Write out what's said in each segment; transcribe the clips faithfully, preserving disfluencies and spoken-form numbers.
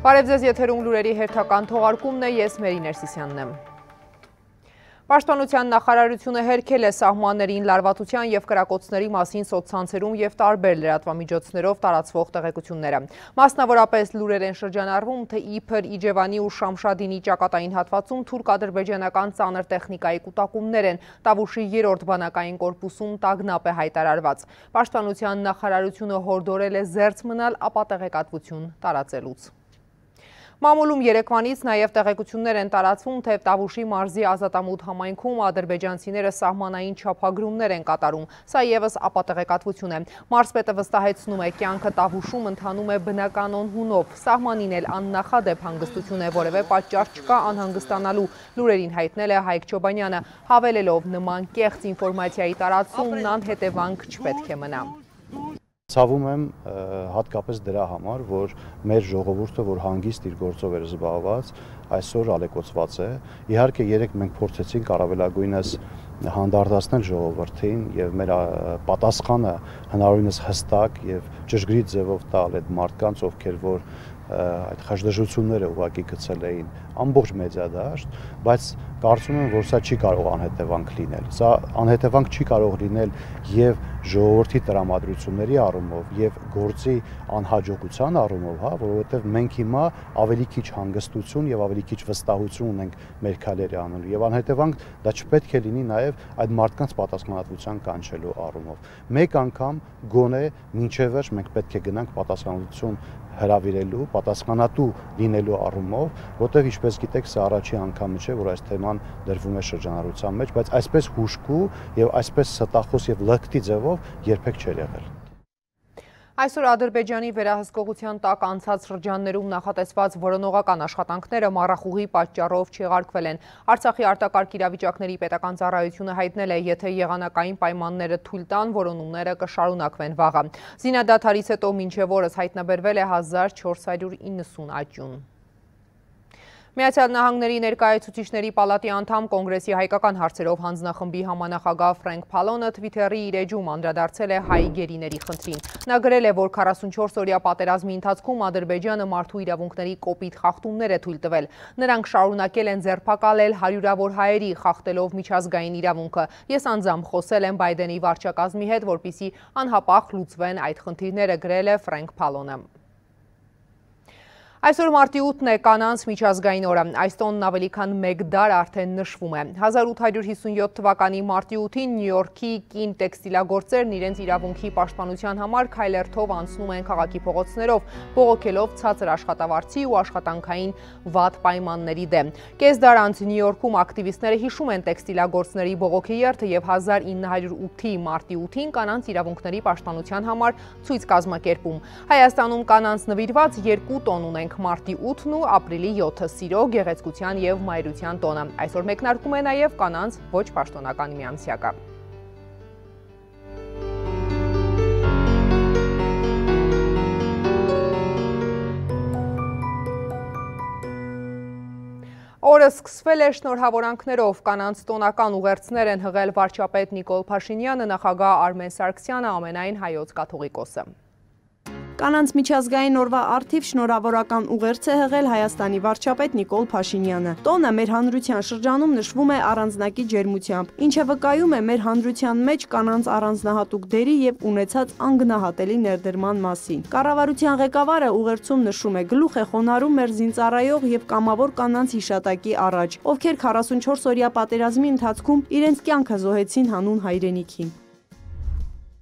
Բարև ձեզ, եթերում լուրերի հերթական թողարկումն է, ես Մերի Ներսիսյանն եմ։ Պաշտպանության նախարարությունը հերքել է սահմաններին լարվածության և կրակոցների մասին սոցցանցերում և տարբեր լրատվամիջոցներով տարածվող տեղեկությունները։ Մասնավորապես լուրեր են շրջանառվում, թե իբր Իջևանի ու Շամշադինի ճակատային հատվածում թուրք-ադրբեջանական ծանր տեխնիկայի կուտակումներ են, Տավուշի երրորդ բանակային կորպուսում տագնապ է հայտարարված։ Պաշտպանության նախարարությունը հորդորել է զերծ մնալ ապատեղեկատվություն տարածելուց։ Մամուլում երեկվանից նաև տեղեկություններ են տարածվում, թե Տավուշի մարզի ազատամուտ համայնքում ադրբեջանցիները սահմանային չափագրումներ են կատարում, սա ևս ապատեղեկատվություն է։ Մարզպետը վստահեցնում է, կյանքը Տավուշում ընթանում է բնականոն հունով, սահմանին էլ աննախադեպ հանգստություն է, որևէ պատճառ չկա անհանգստանալու, լուրերին հայտնել է Հայկ Չոբանյանը, հավելելով նման կեղծ ինֆորմացիայի տարածումն անհետևանք չպետք է մնա։ Ցավում եմ հատկապես դրա համար, որ մեր ժողովուրդը, որ հանգիստ իր գործով էր զբաղված, այսօր ալեկոծված է։ Իհարկե երեք մենք փորձեցինք առավելագույնս հանդարտացնել ժողովրդին եւ մեր պատասխանը հնարավորինս հստակ եւ ճշգրիտ ձևով տալ այդ մարդկանց, ովքեր որ այդ խժդժությունները ուղղակի գցել էին ամբողջ մեդիադաշտ, բայց կարծում եմ, որ սա չի կարող անհետևանք լինել։ Սա անհետևանք չի կարող լինել եւ ժողովրդի տրամադրությունների առումով եւ գործի անհաջողության առումով, հա, որովհետեւ մենք հիմա ավելի քիչ հանգստություն եւ ավելի քիչ վստահություն ունենք մեր քայլերի անելու եւ անհետևանք դա չպետք է լինի նաեւ այդ մարդկանց պատասխանատվության կանչելու առումով։ Մեկ անգամ գոնե մինչեւ վերջ մենք պետք է գնանք պատասխանատվություն հրավիրելու, պատասխանատու լինելու առումով, որտեղ ինչպես գիտեք, սա առաջի անգամը չէ, որ այս թեման դրվում է շրջանառության մեջ, բայց այսպես հուժկու եւ այսպես ստախոս եւ լկտի ձևով երբեք չէր եղել։ Այսօր Ադրբեջանի վերահսկողության տակ անցած շրջաններում նախատեսված որոնողական աշխատանքները մառախուղի պատճառով չեղարկվել են։ Արցախի արտակարգ իրավիճակների պետական ծառայությունը հայտնել է, եթե եղանակային պայմանները թույլ տան, որոնումները կշարունակվեն վաղը։ Զինադադարից հետո մինչև օրս հայտնաբերվել է հազար չորս հարյուր իննսուն աճյուն։ Միացյալ Նահանգների ներկայացուցիչների պալատի անդամ Կոնգրեսի հայկական հարցերով հանձնախմբի համանախագահ Ֆրենկ Փալոնը Թվիթերի իր էջում անդրադարձել է հայ գերիների խնդրին։ Նա գրել է, որ քառասունչորս օրյա պատերազմի ընթացքում Ադրբեջանը մարդու իրավունքների կոպիտ խախտումներ է թույլ տվել։ Նրանք շարունակել են ձերբակալել հարյուրավոր հայերի, խախտելով միջազգային իրավունքը։ Ես անձամբ խոսել եմ Բայդենի վարչակազմի հետ, որպեսզի անհապաղ լուծվեն այդ խնդիրները, գրել է Ֆրենկ Փալոնը։ Այսօր մարտի ութն է կանանց միջազգային օրը, այս տոնն ավելի քան մեկ դար արդեն նշվում է։ հազար ութ հարյուր հիսունյոթ թվականի մարտի ութին Նյու Յորքի կին տեքստիլագործերն իրենց իրավունքի պաշտպանության համար քայլերթով անցնում են քաղաքի փողոցներով, բողոքելով ցածր աշխատավարձի ու աշխատանքային վատ պայմանների դեմ։ Կես դար անց Նյու Յորքում ակտիվիստները հիշում են տեքստիլագործների բողոքի երթը եւ հազար ինը հարյուր ութի մարտի ութին կանանց իրավունքների պաշտպանության համար ցույց կազմակերպում։ Հայաստանում կանանց նվիրված երկու տոն ունեն մարտի ութն ու ապրիլի յոթը սիրո, գեղեցկության և մայրության տոնը։ Այսօր մեկնարկում է նաև կանանց ոչ պաշտոնական միամսյակը։ Օրը սկսվել է շնորհավորանքներով, կանանց տոնական ուղերձներ են հղել վարչապետ Նիկոլ Փաշինյանը, նախագահ Արմեն Սարգսյանը, ամենայն հայոց կաթողիկոսը։ Կանանց միջազգային օրվա առթիվ շնորհավորական ուղերձ է հղել Հայաստանի վարչապետ Նիկոլ Փաշինյանը։ Տոնը մեր հանրության շրջանում նշվում է առանձնակի ջերմությամբ, ինչը վկայում է մեր հանրության մեջ կանանց առանձնահատուկ դերի եւ ունեցած անգնահատելի ներդրման մասին։ Կառավարության ղեկավարը ուղերձում նշում է, գլուխ է խոնարհում մեր զինծառայող եւ կամավոր կանանց հիշատակի առաջ, ովքեր քառասունչորս օրյա պատերազմի ընթացքում իրենց կյանքը զոհեցին հանուն հայրենիքի։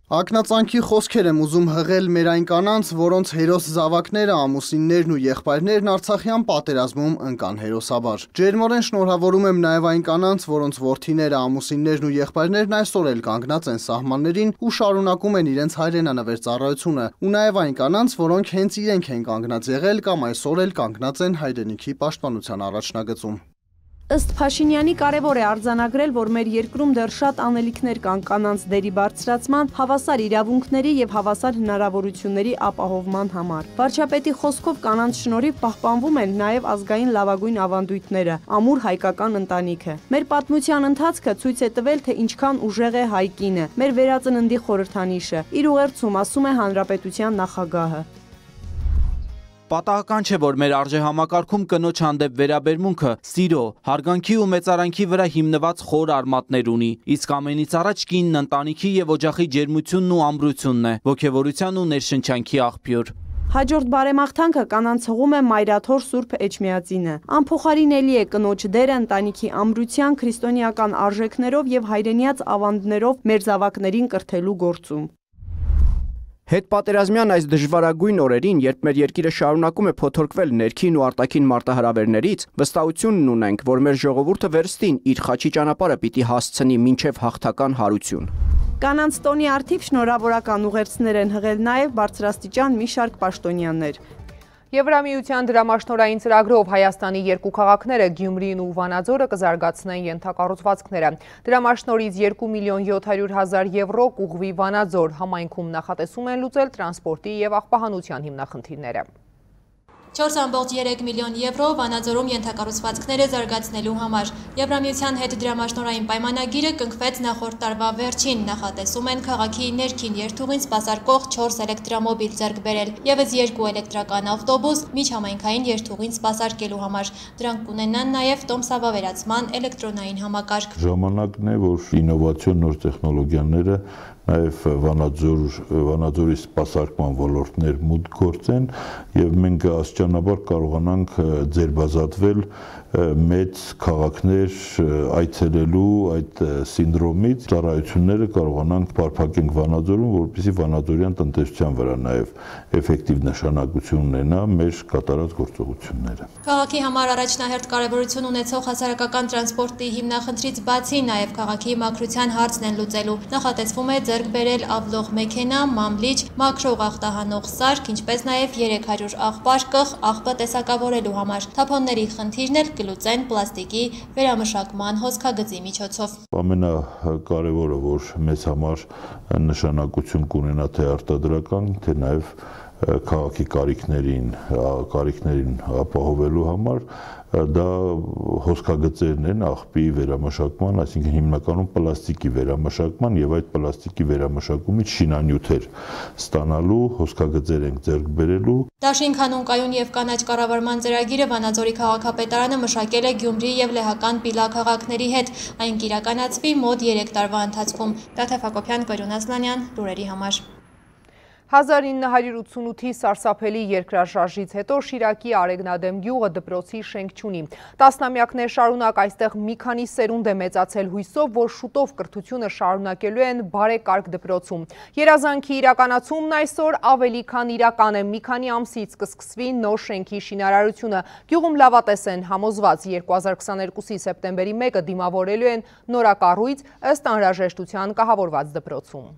Ակնածանքի խոսքեր եմ ուզում հղել մեր այն կանանց, որոնց հերոս զավակները, ամուսիններն ու եղբայրներն Արցախյան պատերազմում ընկան հերոսաբար։ Ջերմորեն շնորհավորում եմ նաև այն կանանց, որոնց որդիները, ամուսիններն ու եղբայրներն այսօր էլ կանգնած են սահմաններին ու շարունակում են իրենց հայրենանվեր ծառայությունը, ու նաև այն կանանց, որոնք հենց իրենք են կանգնած եղել կամ այսօր էլ կանգնած են հայրենիքի պաշտպանության առաջնագծում։ Ըստ Փաշինյանի կարևոր է արձանագրել, որ մեր երկրում դեռ շատ անելիքներ կան կանանց դերի բարձրացման, հավասար իրավունքների եւ հավասար հնարավորությունների ապահովման համար։ Վարչապետի խոսքով կանանց շնորհիվ պահպանվում են նաեւ ազգային լավագույն ավանդույթները, ամուր հայկական ընտանիքը։ Մեր պատմության ընթացքը ցույց է տվել, թե ինչքան ուժեղ է հայ կինը, մեր վերածննդի խորհրդանիշը։ Իր ուղերձում ասում է Հանրապետության նախագահը. Պատահական չէ, որ մեր արժեհամակարգում կնոջ հանդեպ վերաբերմունքը սիրո, հարգանքի ու մեծարանքի վրա հիմնված խոր արմատներ ունի, իսկ ամենից առաջ կինն ընտանիքի եւ օջախի ջերմությունն ու ամրությունն է, ոգևորության ու ներշնչանքի աղբյուր։ Հաջորդ բարեմաղթանքը կանանց հղում է Մայրաթոր Սուրբ Էջմիածինը։ Անփոխարինելի է կնոջ դերը ընտանիքի ամրության, քրիստոնեական արժեքներով եւ հայրենիաց ավանդներով մեր զավակներին կրթելու գործում։ Հետպատերազմյան այս դժվարագույն օրերին, երբ մեր երկիրը շարունակում է փոթորկվել ներքին ու արտաքին մարտահրավերներից, վստահությունն ունենք, որ մեր ժողովուրդը վերստին իր խաչի ճանապարհը պիտի հասցնի մինչև հաղթական հարություն։ Կանանց տոնի արդիվ շնորհավորական ուղերձներ են հղել նաև բարձրաստիճան մի շարք պաշտոնյաներ։ Եվրամիության դրամաշնորհային ծրագրով Հայաստանի երկու քաղաքները Գյումրին ու Վանաձորը կզարգացնեն ենթակառուցվածքները։ Դրամաշնորհից երկու միլիոն յոթ հարյուր հազար եվրո կուղղվի Վանաձոր համայնքում նախատեսում են լուծել տրանսպորտի եւ աղբահանության հիմնախնդիրները։ չորս ամբողջ երեք միլիոն եվրո Վանաձորում ենթակառուցվածքները զարգացնելու համար։ Եվրամիության հետ դրամաշնորհային պայմանագիրը կնքվեց նախորդ տարվա վերջին, նախատեսում են քաղաքի ներքին երթուղին սպասարկող չորս էլեկտրամոբիլ ձեռք բերել, ևս երկու էլեկտրական ավտոբուս միջհամայնքային երթուղին սպասարկելու համար։ Դրանք կունենան նաև տոմսավավերացման էլեկտրոնային համակարգ։ Ժամանակն է, որ ինովացիոն նոր տեխնոլոգիաները նաև Վանաձորի սպասարկման ոլորտներ մուտք գործեն եւ մենք աստիճանաբար կարողանանք ձերբազատվել մեծ քաղաքներ այցելելու այդ սինդրոմից, ծառայությունները կարողանանք բարփակենք Վանաձորում, որպեսզի վանաձորյան տնտեսության վրա նաև էֆեկտիվ նշանակություն ունենա մեր կատարած գործողությունները։ Քաղաքի համար առաջնահերթ կարևորություն ունեցող հասարակական տրանսպորտի հիմնախնդրից բացի նաև քաղաքի մաքրության հարցն են լուծելու։ Նախատեսվում է ձեռք բերել ավլող մեքենա, մամլիչ, մաքրող աղտահանող սարք, ինչպես նաև երեք հարյուր աղբար կղ աղբը տեսակավորելու համար։ Թափոնների խնդիրն էլ կլուծեն պլաստիկի վերամշակման հոսքագծի միջոցով։ Ամենակարևորը, որ մեզ համար նշանակություն կունենա թե արտադրական, թե նաև քաղաքի կարիքներին, կարիքներին ապահովելու համար, դա հոսքագծերն են աղբի վերամշակման, այսինքն հիմնականում պլաստիկի վերամշակման եւ այդ պլաստիկի վերամշակումից շինանյութեր ստանալու հոսքագծեր ենք ձեռք բերելու։ Դաշին քանուն կայուն եւ կանաչ կառավարման ծրագիրը Վանաձորի քաղաքապետարանը մշակել է Գյումրի եւ Լեհական Պիլա քաղաքների հետ։ Այն կիրականացվի մոտ երեք տարվա ընթացքում։ Տաթև Հակոբյան, Կայուն Ասլանյան, լուրերի համար։ հազար ինը հարյուր ութսունութի սարսափելի երկրաշարժից հետո Շիրակի Արեգնադեմ գյուղը դպրոցի շենք չունի։ Տասնամյակներ շարունակ այստեղ մի քանի սերունդ է մեծացել հույսով, որ շուտով կրթությունը շարունակելու են բարեկարգ դպրոցում։ Երազանքի իրականացումն այսօր ավելի քան իրական է, մի քանի ամսից կսկսվի նոր շենքի շինարարությունը։ Գյուղում լավատես են համոզված, երկու հազար քսաներկուսի սեպտեմբերի մեկը դիմավորելու են նորակառույց ըստ անհրաժեշտության կահավորված դպրոցում։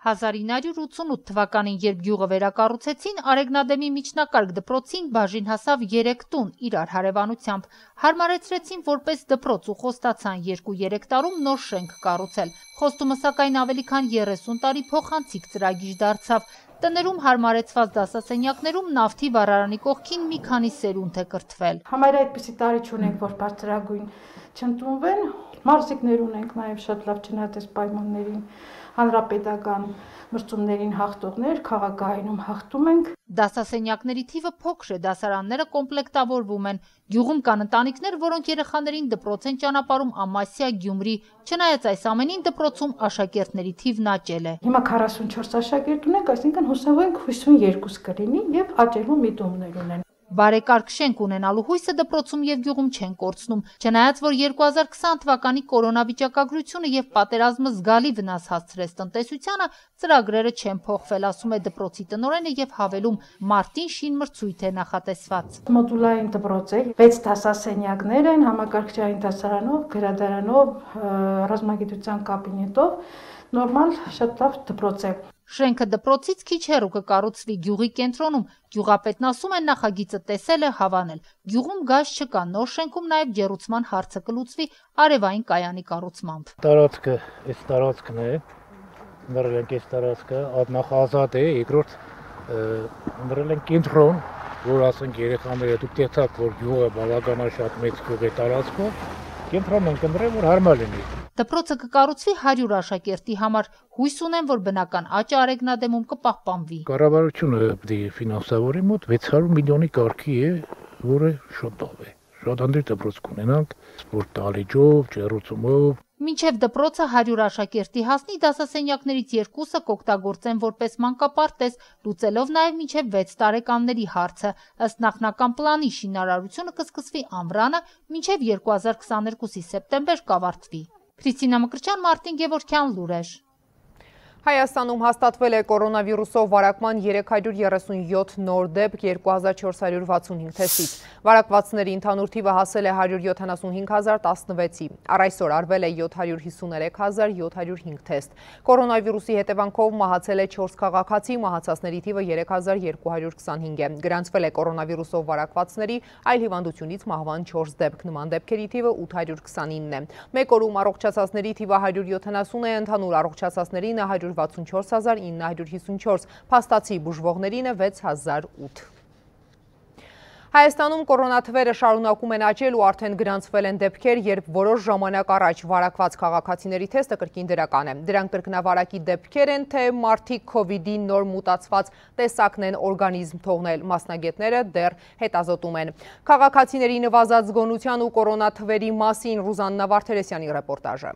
հազար ինը հարյուր ութսունութ թվականին, երբ գյուղը վերակառուցեցին, Արեգնադեմի միջնակարգ դպրոցին բաժին հասավ երեք տուն իրար հարևանությամբ։ Հարմարեցրեցին որպես դպրոց ու խոստացան երկու-երեք տարում նոր շենք կառուցել։ Խոստումը սակայն ավելի քան երեսուն տարի փոխանցիկ ծրագիր դարձավ։ Տներում հարմարեցված դասասենյակներում նավթի վառարանի կողքին մի քանի սերունդ է կրթվել։ Համարյա այդպիսի տարի չունենք, որ բարձրագույն չընդունվեն, մարզիկներ ունենք նաև շատ լավ չնայած պայմաններին, հանրապետական մրցումներին հաղթողներ, քաղաքայինում հաղթում ենք։ Դասասենյակների թիվը փոքր է, դասարանները կոմպլեկտավորվում են։ Գյուղում կան ընտանիքներ, որոնք երեխաներին դպրոց են ճանապարհում Ամասիա, Գյումրի։ Չնայած այս ամենին դպրոցում աշակերտների թիվն աճել է։ Հիմա քառասունչորս աշակերտ ունենք, այսինքն հուսով ենք հիսունյոթ կլինի եւ աճելու միտումներ ունեն։ Բարեկարգ շենք ունենալու հույսը դպրոցում եւ գյուղում չեն կորցնում, չնայած որ երկու հազար քսան թվականի կորոնավիճակագրությունը եւ պատերազմը զգալի վնաս հասցրեց տնտեսությանը, ծրագրերը չեն փոխվել, ասում է դպրոցի տնօրենը եւ հավելում, մարտին շին մրցույթ է նախատեսված։ Մոդուլային դպրոց է, վեց դասասենյակներ են, համակարգչային դասարանով, գրադարանով, ռազմագիտության կաբինետով, նորմալ շատ լավ դպրոց է։ Շենքը դպրոցից քիչ հեռու կկառուցվի գյուղի կենտրոնում։ Գյուղապետն ասում է նախագիծը տեսել է, հավանել։ Գյուղում գազ չկա, նոր շենքում նաև ջեռուցման հարցը կլուծվի արևային կայանի կառուցմամբ։ Տարածքը, այս տարածքն է, ընտրել ենք այս տարածքը, նախ ազատ է, երկրորդ ընտրել ենք կենտրոն, որ ասենք երեխաները դուք տեսաք, որ գյուղը բավականին շատ մեծ գյուղ է տարածքով, կենտրոն ենք ընտրել, որ հարմար լինի։ Դպրոցը կկառուցվի հարյուր աշակերտի համար, հույս ունեն, որ բնական աճը Արեգնադեմում կպահպանվի։ Կառավարությունը պետք է ֆինանսավորի մոտ վեց հարյուր միլիոնի կարգի է, որը շոտով է։ Շատ անդիր դպրոց կունենանք, սպորտ դահլիճով, ջեռուցումով։ Մինչև դպրոցը հարյուր աշակերտի հասնի, դասասենյակներից երկուսը կօգտագործեն որպես մանկապարտեզ, լուծելով նաև մինչև վեց տարեկանների հարցը։ Ըստ նախնական պլանի շինարարությունը կսկսվի ամռանը, մինչև երկու հազար քսաներկուսի սեպտեմբեր կավարտվի։ Քրիստինա Մկրտչյան, Մարտին Գևորգյան, Լուրեր։ Հայաստանում հաստատվել է կորոնավիրուսով վարակման երեք հարյուր երեսունյոթ նոր դեպք երկու հազար չորս հարյուր վաթսունհինգ թեստից։ Վարակվածների ընդհանուր թիվը հասել է հարյուր յոթանասունհինգ հազար տասնվեցի։ Առ այսօր արվել է յոթ հարյուր հիսուներեք հազար յոթ հարյուր հինգ թեստ։ Կորոնավիրուսի հետևանքով մահացել է չորս քաղաքացի, մահացածների թիվը երեք հազար երկու հարյուր քսանհինգ է։ Գրանցվել է կորոնավիրուսով վարակվածների այլ հիվանդությունից մահվան չորս դեպք, նման դեպքերի թիվը ութ հարյուր քսանինն է։ Մեկ օրում առողջացածների թիվը հարյուր յոթանասուն է, ընդհանուր առողջացածներին հարյուր վաթսունչորս հազար ինը հարյուր հիսունչորս, փաստացի բուժվողներին վեց հազար ութ։ Հայաստանում կորոնաթվերը շարունակում են աճել ու արդեն գրանցվել են դեպքեր, երբ որոշ ժամանակ առաջ վարակված քաղաքացիների թեստը կրկին դրական է։ Դրանք կրկնավարակի դեպքեր են, թե մարդիկ քովիդի նոր մուտացված տեսակն են օրգանիզմ թողնել, մասնագետները դեռ հետազոտում են։ Քաղաքացիների նվազած զգոնության ու կորոնաթվերի մասին Ռուզաննա Վարդերեսյանի ռեպորտաժը։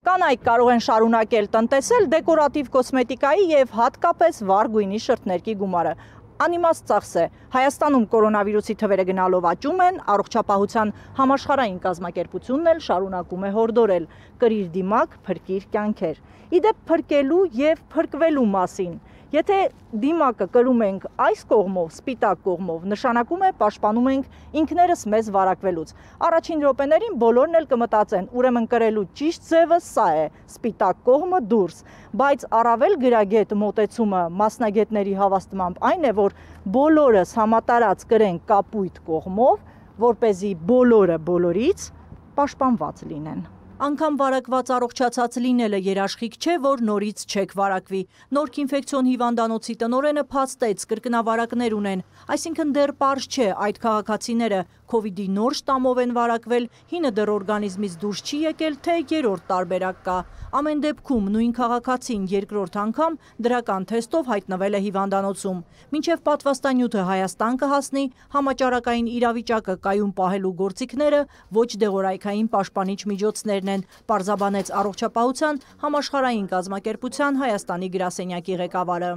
Կանայք կարող են շարունակել տնտեսել դեկորատիվ կոսմետիկայի և հատկապես վառ գույնի շրթներքի գումարը։ Անիմաստ ծախս է։ Հայաստանում կորոնավիրուսի թվերը գնալով աճում են, առողջապահության համաշխարհային կազմակերպությունն էլ շարունակում է հորդորել՝ կրիր դիմակ, փրկիր կյանքեր։ Իդեպ փրկելու և փրկվելու մասին։ Եթե դիմակը կրում ենք այս կողմով, սպիտակ կողմով, նշանակում է պաշտպանում ենք ինքներս մեզ վարակվելուց։ Առաջին րոպեներին բոլորն էլ կմտածեն, ուրեմն կրելու ճիշտ ձևը սա է, սպիտակ կողմը դուրս, բայց առավել գրագետ մոտեցումը մասնագետների հավաստմամբ այն է, որ բոլորս համատարած կրենք կապույտ կողմով, որպեսզի բոլորը բոլորից պաշտպանված լինեն։ Անգամ վարակված առողջացած լինելը երաշխիք չէ, որ նորից չեք վարակվի։ Նորք ինֆեկցիոն հիվանդանոցի տնօրենը փաստեց, կրկնավարակներ ունեն, այսինքն դեռ պարզ չէ այդ քաղաքացիները քովիդի նոր շտամով են վարակվել, հինը դեռ օրգանիզմից դուրս չի եկել, թե երրորդ տարբերակ կա։ Ամեն դեպքում նույն քաղաքացին երկրորդ անգամ դրական թեստով հայտնվել է հիվանդանոցում։ Մինչև պատվաստանյութը Հայաստան կհասնի, համաճարակային իրավիճակը կայուն պահելու գործիքները ոչ դեղորայքային պաշտպանիչ միջոցներն են, պարզաբանեց առողջապահության համաշխարհային կազմակերպության Հայաստանի գրասենյակի ղեկավարը։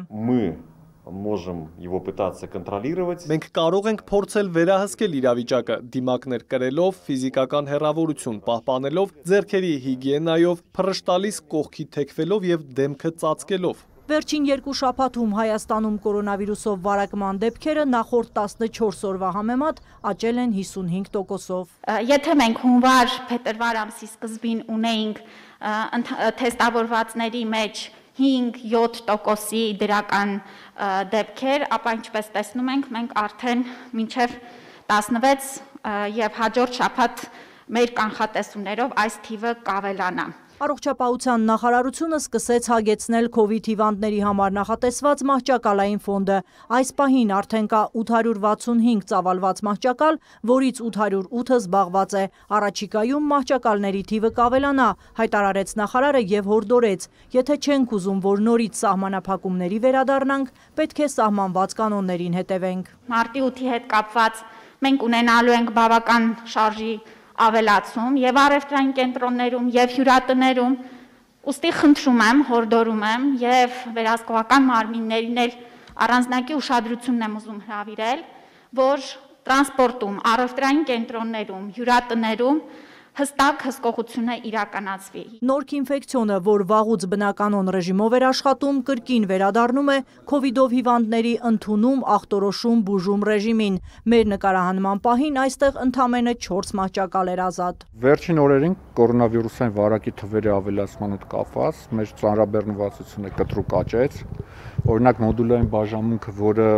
Можем его пытаться контролировать. Մենք կարող ենք փորձել վերահսկել իրավիճակը, դիմակներ կրելով, ֆիզիկական հեռավորություն պահպանելով, ձեռքերի հիգիենայով, փռշտալիս կողքի թեքվելով եւ դեմքը ծածկելով։ Վերջին երկու շաբաթում Հայաստանում կորոնավիրուսով վարակման դեպքերը նախորդ տասնչորս օրվա համեմատ աճել են հիսունհինգ տոկոսով։ Եթե մենք հունվար փետրվար ամսի սկզբին ունեինք թեստավորվածների մեջ հինգ յոթ տոկոսի դրական դեպքեր, ապա ինչպես տեսնում ենք, մենք արդեն մինչև տասնվեց եւ հաջորդ շաբաթ մեր կանխատեսումներով այս թիվը կավելանա։ Առողջապահության նախարարությունը սկսեց հագեցնել քովիդ հիվանդների համար նախատեսված մահճակալային ֆոնդը։ Այս պահին արդեն կա ութ հարյուր վաթսունհինգ ծավալված մահճակալ, որից ութ հարյուր ութը զբաղված է։ Առաջիկայում մահճակալների թիվը կավելանա, հայտարարեց նախարարը եւ հորդորեց. եթե չենք ուզում, որ նորից սահմանափակումների վերադառնանք, պետք է սահմանված կանոններին հետևենք։ Մարտի ութի հետ կապված մենք ունենալու ենք բավական շարժի ավելացում եւ առևտրային կենտրոններում եւ հյուրատներում, ուստի խնդրում եմ, հորդորում եմ եւ վերահսկողական մարմիններին էլ առանձնակի ուշադրությունն եմ ուզում հրավիրել, որ տրանսպորտում, առևտրային կենտրոններում, հյուրատներում հստակ հսկողությունը իրականացվի։ Նորք ինֆեկցիոնը, որ վաղուց բնականոն ռեժիմով էր աշխատում, կրկին վերադառնում է քովիդով հիվանդների ընդունում, ախտորոշում, բուժում ռեժիմին։ Մեր նկարահանման պահին այստեղ ընդամենը չորս մահճակալ էր ազատ։ Վերջին օրերին կորոնավիրուսային վարակի թվերի ավելացման հետ կապված մեր ծանրաբեռնվածությունը կտրուկ աճեց։ Օրինակ մոդուլային բաժանմունքը, որը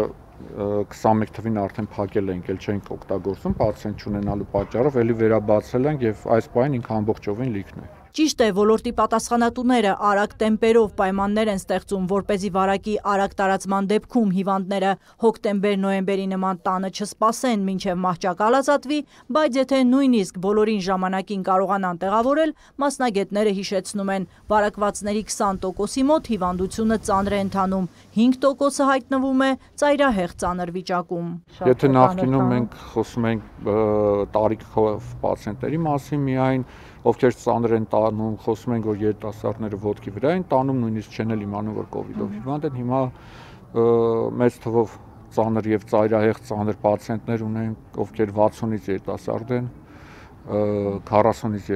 քսանմեկ թվին արդեն փակել ենք, ել չենք օգտագործում, պացիենտ չունենալու պատճառով, էլի վերաբացել ենք եւ այս պահին ինքը ամբողջովին լիքն է։ Ճիշտ է, ոլորտի պատասխանատուները արագ տեմպերով պայմաններ են ստեղծում, որպեսզի վարակի արագ տարածման դեպքում հիվանդները հոկտեմբեր-նոյեմբերի նման տանը չսպասեն մինչև մահճակալ ազատվի, բայց եթե նույնիսկ բոլորին ժամանակին կարողանան տեղավորել, մասնագետները հիշեցնում են, վարակվածների քսան տոկոսի մոտ հիվանդությունը ծանր է ընթանում, հինգ տոկոսը հայտնվում է ծայրահեղ ծանր վիճակում։ Եթե նախկինում մենք խոսում ենք տարիքով պացիենտների մասին միայն, ովքեր ծանր են տանում, խոսում ենք, որ երիտասարդները ոտքի վրա են տանում, նույնիսկ չեն էլ իմանում, որ կովիդով հիվանդ են, հիմա մեծ թվով ծանր եւ ծայրահեղ ծանր պացիենտներ ունենք, ովքեր վաթսունից երիտասարդ են, քառասունից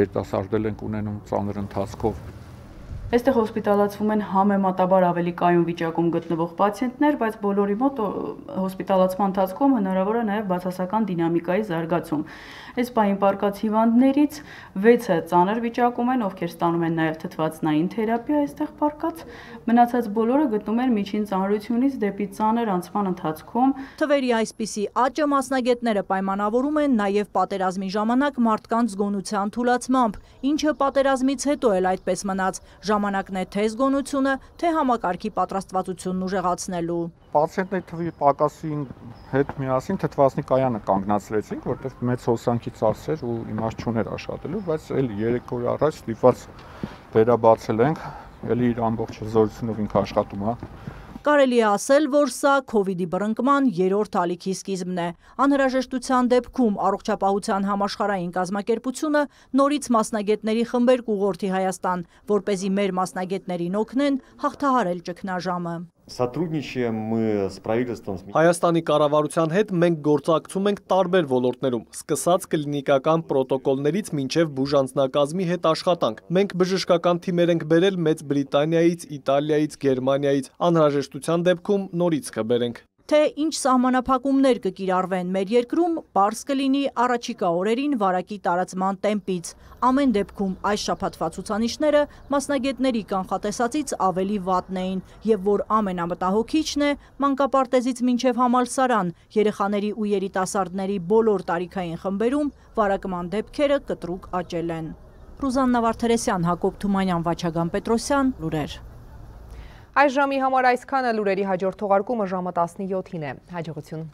երիտասարդել ենք ունենում ծանր ընթացքով։ Այստեղ հոսպիտալացվում են համեմատաբար ավելի կայուն վիճակում գտնվող պացիենտներ, բայց բոլորի մոտ հոսպիտալացման ընթացքում հնարավոր է նաև բացասական դինամիկայի զարգացում։ Այս պահին պարկած հիվանդներից վեցը ծանր վիճակում են, ովքեր ստանում են նաև թթվածնային թերապիա այստեղ պարկած, մնացած բոլորը գտնում են միջին ծանրությունից դեպի ծանր անցման ընթացքում։ Թվերի այսպիսի աճը մասնագետները պայմանավորում են նաև պատերազմի ժամանակ մարդկանց զգոնության թուլացմամբ, ինչը պատերազմից հետո էլ այդպես մնաց, ժամանակն է թե զգոնությունը, թե համակարգի պատրաստվածությունն ուժեղացնելու։ Պացիենտների թվի պակասի հետ միասին թթվածնի կայանը կանգնացրեցինք, որտեղ մեծ հոսանքի ծախսեր ու իմաստ չուներ աշխատելու, բայց էլ երեք օր առաջ ստիպված վերաբացել ենք, էլի իր ամբողջ զորությունով ինքը աշխատում է։ Կարելի է ասել, որ սա քովիդի բռնկման երրորդ ալիքի սկիզբն է։ Անհրաժեշտության դեպքում առողջապահության համաշխարհային կազմակերպությունը նորից մասնագետների խմբեր կուղղորդի Հայաստան, որպեսզի մեր մասնագետներին օգնեն հաղթահարել ճգնաժամը։ Сотрудничаем мы с правительством. Հայաստանի կառավարության հետ մենք գործակցում ենք տարբեր ոլորտներում, սկսած կլինիկական պրոտոկոլներից մինչև բուժանձնակազմի հետ աշխատանք։ Մենք բժշկական թիմեր ենք բերել Մեծ Բրիտանիայից, Իտալիայից, Գերմանիայից, անհրաժեշտության դեպքում նորից կբերենք։ Թե ինչ սահմանափակումներ կկիրառվեն մեր երկրում, պարզ կլինի առաջիկա օրերին վարակի տարածման տեմպից։ Ամեն դեպքում այս շաբաթվա ցուցանիշները մասնագետների կանխատեսածից ավելի վատն էին, եւ որ ամենամտահոգիչն է, մանկապարտեզից մինչև համալսարան, երեխաների ու երիտասարդների բոլոր տարիքային խմբերում վարակման դեպքերը կտրուկ աճել են։ Ռուզաննա Վարդերեսյան, Հակոբ Թումանյան, Վաչագան Պետրոսյան, լուրեր։ Այս ժամի համար այսքանը, լուրերի հաջորդ թողարկումը ժամը տասնյոթին է։ Հաջողություն։